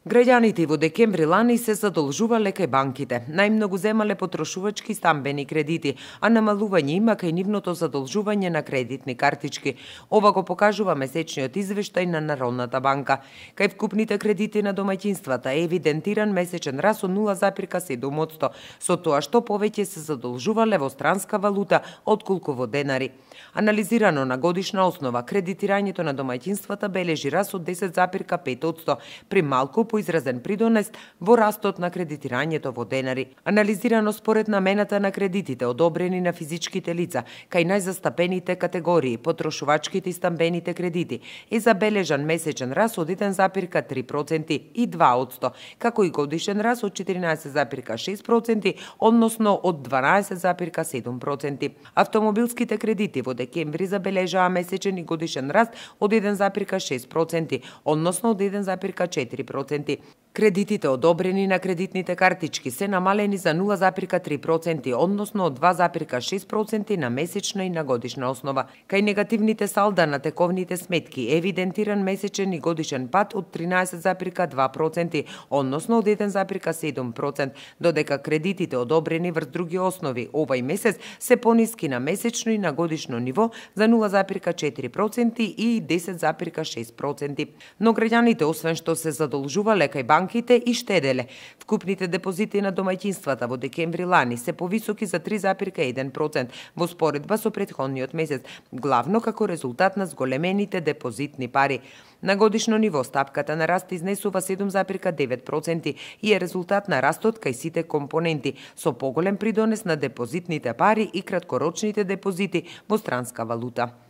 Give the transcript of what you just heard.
Граѓаните во декември лани се задолжувале кај банките. Најмногу земале потрошувачки стамбени кредити, а намалување има кај нивното задолжување на кредитни картички. Ова го покажува месечниот извештај на Народната банка. Кај вкупните кредити на домаќинствата е евидентиран месечен раст од 0,7%, со тоа што повеќе се задолжувале во странска валута отколку во денари. Анализирано на годишна основа, кредитирањето на домаќинствата бележи раст од 10,5%, при малку поизразен придонес во растот на кредитирањето во денари. Анализирано според намената на кредитите одобрени на физичките лица, кај најзастапените категории, потрошувачките и стамбените кредити, е забележан месечен раст од 1,3% и 2%, како и годишен раст од 14,6%, односно од 12,7%. Автомобилските кредити во декември забележаа месечен и годишен раст од 1,6%, односно од 1,4%. Кредитите одобрени на кредитните картички се намалени за 0,3%, односно од 2,6% на месечна и на годишна основа. Кај негативните салда на тековните сметки е евидентиран месечен и годишен пад од 13,2%, односно од 1,7%, додека кредитите одобрени врз други основи овај месец се пониски на месечно и на годишно ниво за 0,4% и 10,6%. Но граѓаните, освен што се задолжувале кај банките и штеделе. Вкупните депозити на домаќинствата во декември лани се повисоки за 3,1% во споредба со претходниот месец, главно како резултат на зголемените депозитни пари. На годишно ниво стапката на раст изнесува 7,9% и е резултат на растот кај сите компоненти, со поголем придонес на депозитните пари и краткорочните депозити во странска валута.